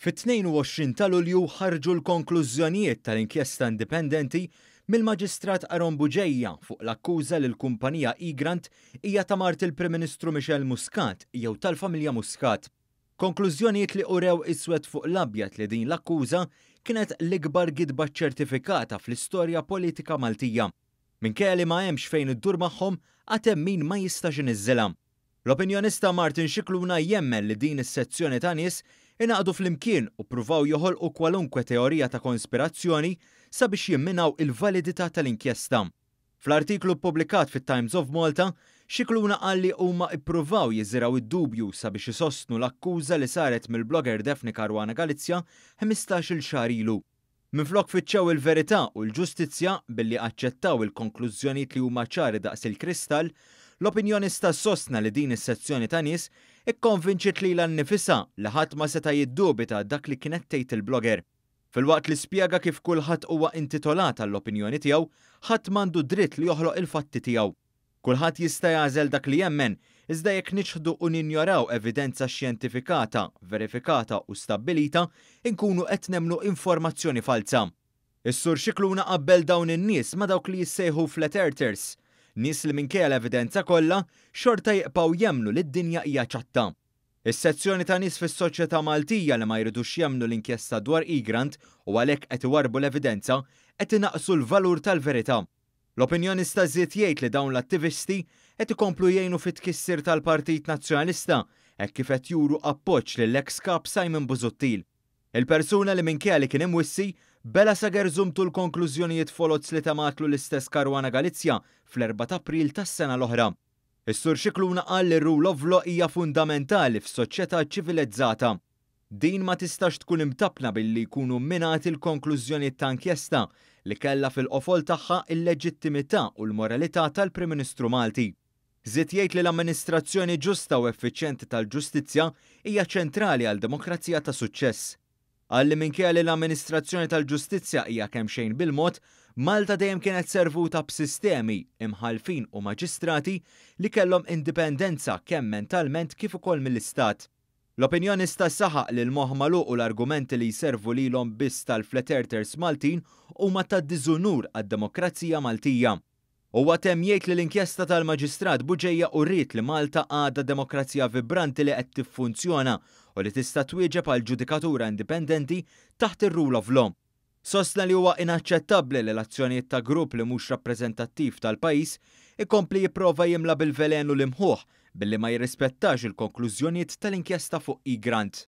Fit-22 ta' Lulju ħarġu l-konklużjonijiet tal-inkjesta indipendenti mill-Maġistrat Aaron Bugeja fuq l-akkuża li l-kumpanija Egrant hija ta' mart il-Prim Ministru Michelle Muscat jew tal-familja Muscat. Konklużjonijiet li urew iswed fuq l-abjad li din l-akkuża kienet l-ikbar gidba ċertifikata fl-istorja politika Maltija. Minkejja li ma hemmx fejn iddur magħhom, għad hemm min ma jistax iniżżilha. L-opinjonista Martin Scicluna jemmen li din is-sezzjoni ta' nies ingħaqdu flimkien u ppruvaw joħolqu kwalunkwe teorija ta' konspirazzjoni sabiex jimminaw il-validità tal-inkjesta. Fl-artiklu ppubblikat fit-Times of Malta, Scicluna qal li huma ppruvaw jiżirgħu d-dubju sabiex isostnu l-akkuża li saret mill-blogger Daphne Caruana Galizia 15-il xahar ilu. Minflok fittxew il-verità u l-ġustizzja billi aċċettaw il-konklużjonijiet li huma ċari daqs il-kristall, l-opinjonista sostna li din is-sezzjoni ta' nies ikkonvinċiet lilha nnifisha li ħadd ma seta' jiddubita dak li kienet tgħid il-blogger. Filwaqt li spjega kif kulħadd huwa intitolat għall-opinjoni tiegħu, ħadd m'għandu dritt li joħloq il-fatti tiegħu. Kulħadd jista' jagħżel dak li jemmen, iżda jekk niċħdu u ninjoraw evidenza xjentifikata, verifikata u stabbilita, inkunu qed nemmnu informazzjoni falza. Is-Sur Scicluna qabbel dawn in-nies ma' dawk li jissejħu flat earthers, nies li minkejja l-evidenza kollha, xorta jibqgħu jemmnu li d-dinja hija ċatta. Is-sezzjoni ta' nies fis-soċjetà Maltija li ma jridux jemmnu l-inkjesta dwar Egrant u għalhekk qed iwarrbu l-evidenza, qed inaqqsu l-valur tal-verità. L-opinjonista żied jgħid li dawn l-attivisti qed ikomplu jgħinu fit-tkissir tal-Partit Nazzjonalista hekk kif qed juru appoġġ lill-eks kap Simon Busuttil. Il-persuna li minkejja li kien imwissi bela' sa gerżumtu l-konklużjonijiet foloz li tematlu l-istess Caruana Galizia fl-4 ta' April tas-sena l-oħra. Is-Sur Scicluna qal li r-rule of law hija fundamentali f'soċjetà ċivilizzata. Din ma tistax tkun imtappna billi jkunu minati l-konklużjonijiet ta' inkjesta li kellha fil-qofol tagħha il-leġittimità u l-moralità tal-Prim Ministru Malti. Żied jgħid li l-amministrazzjoni ġusta u effiċjenti tal-ġustizzja hija ċentrali għal demokrazija ta' suċċess. Qal li minkejja li l-amministrazzjoni tal-ġustizzja hija kemm xejn bil-mod, Malta dejjem kienet servuta b'sistemi, imħallfin u maġistrati li kellhom indipendenza kemm mentalment kif ukoll mill-Istat. L-opinjonista saħaq li l-moħħ magħluq u l-argumenti li jservu lilhom biss tal-flat earthers Maltin huma ta' diżunur għad-demokrazija Maltija. Huwa temm jgħid li l-inkjesta tal-Maġistrat Bugeja uriet li Malta għadha demokrazija vibranti li qed tiffunzjona u li tista' twieġeb għal ġudikatura indipendenti taħt ir-rule of law. Sostna li huwa inaċċettabbli li l-azzjonijiet ta' grupp li mhux rappreżentattiv tal-pajjiż ikompli jipprova jimla bil-velenu l-imħuħ billi ma jirrispettax il-konklużjonijiet tal-inkjesta fuq Egrant.